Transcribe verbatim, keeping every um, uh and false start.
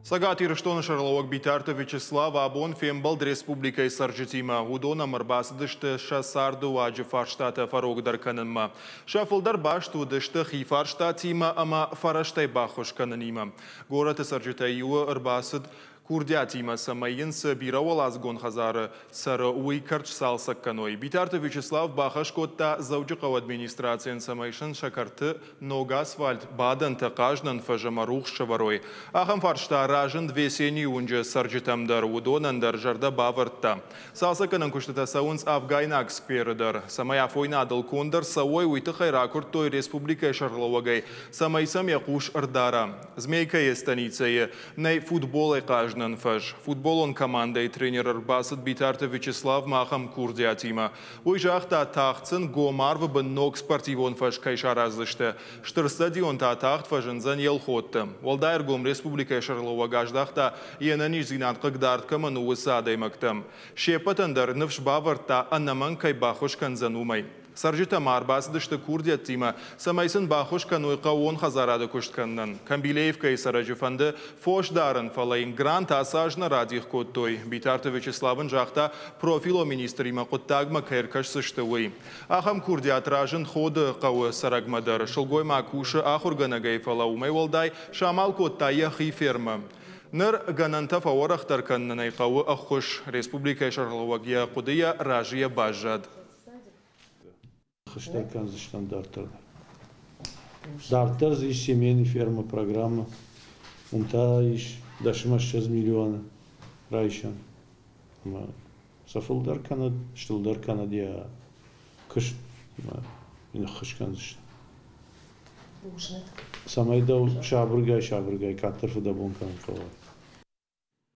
Цӕгат Ирыстоны сӕргълӕууӕг Битарты Вячеслав абон фембӕлд республикӕйы цӕрджытимӕ. Уыдон ӕм ӕрбацыдысты сӕ царды уаджы фарстатӕ фӕрогдӕр кӕнынмӕ. Сӕ фылдӕр баст уыдысты хи фарстатимӕ ӕмӕ фӕрӕзтӕй баххуыс кӕнынимӕ. Горӕты цӕрджытӕй иуы ӕрбацыд курдиатимӕ, цӕмӕй йын цы бирӕуӕладзыгон хӕдзары цӕры, уый кӕрт сцалцӕг кӕной. Битарты Вячеслав бахӕс кодта Дзӕуджыхъӕуы администрацийӕн, цӕмӕй сын сӕ кӕрты ног асфальт, бадӕнтӕ, хъазынӕн фӕз ӕмӕ рухс сӕвӕрой. Ахӕм фарста разынд Весеннийы уынджы цӕрджытӕм дӕр, уыдонӕн дӕр зӕрдӕ бавӕрдта. Цалцӕггӕнӕн куыстытӕ цӕуынц Афгайнаг скверы дӕр. Цӕмӕй афойнадыл конд ӕрцӕуой, уый тыххӕй ракуырдтой республикӕйы сӕргълӕууӕгӕй, цӕмӕй сӕм йӕ хъус ӕрдара. Змейкӕйы станицӕйы нӕй футболӕй хъазынӕн фӕз. Футболон командӕйы тренер ӕрбацыд Битарты Вячеславмӕ ахӕм курдиатимӕ. Уый загъта, тагъд сын гом арвы бын ног спортивон фӕз кӕй сараздзысты. Стыр стадион та тагъд фӕзындзӕн Елхотты. Уӕлдай ӕргом республикӕйы сӕргълӕууӕг аздӕхта, йе нӕниздзинад хъыгдард кӕмӕн у, уыцы адӕймӕгтӕм. Се ппӕтӕн дӕр ныфс бавӕрдта, ӕнӕмӕнг кӕй баххуыс кӕндзӕн, уымӕй. Цӕрджытӕ ма ӕрбацыдысты курдиӕттимӕ, цӕмӕй сын баххуыс кӕной хъӕууон хӕдзарады куыст кӕнынӕн. Камбилеевкӕйы цӕрӕджы фӕнды фос дарын, фӕлӕ йын грант ацы аз нӕ радих кодтой. Битарты Вячеслав ын загъта, профилон министримӕ хъуыддагмӕ кӕй ӕркӕсдзысты, уый. Ахӕм курдиат разынд Ходы хъӕуы цӕрӕгмӕ дӕр. Сылгоймаг кусы ахуыргӕнӕгӕй, фӕлӕ уымӕй уӕлдай самал кодта йӕхи фермӕ. Ныр гӕнӕнтӕ фӕуӕрӕхдӕр кӕнынӕн ӕй хъӕуы ӕххуыс. Республикӕйы сӕргълӕууӕг йӕ хъуыдыйӕ разыйӕ баззад. Хыстӕр кӕндзыстӕм дарддӕр. Дарддӕр дзы ис семейный ферма программа. Уым та ис дӕс ӕмӕ ссӕдз миллионы райсӕн. Ӕмӕ сӕ фылдӕр кӕнӕд, стылдӕр кӕнӕд йӕ куыст ӕмӕ йын ӕххуыс кӕндзысты. Цӕмӕй дӕу сабыргай-сабыргай къаддӕр фыдӕбон кӕнын хъӕуа.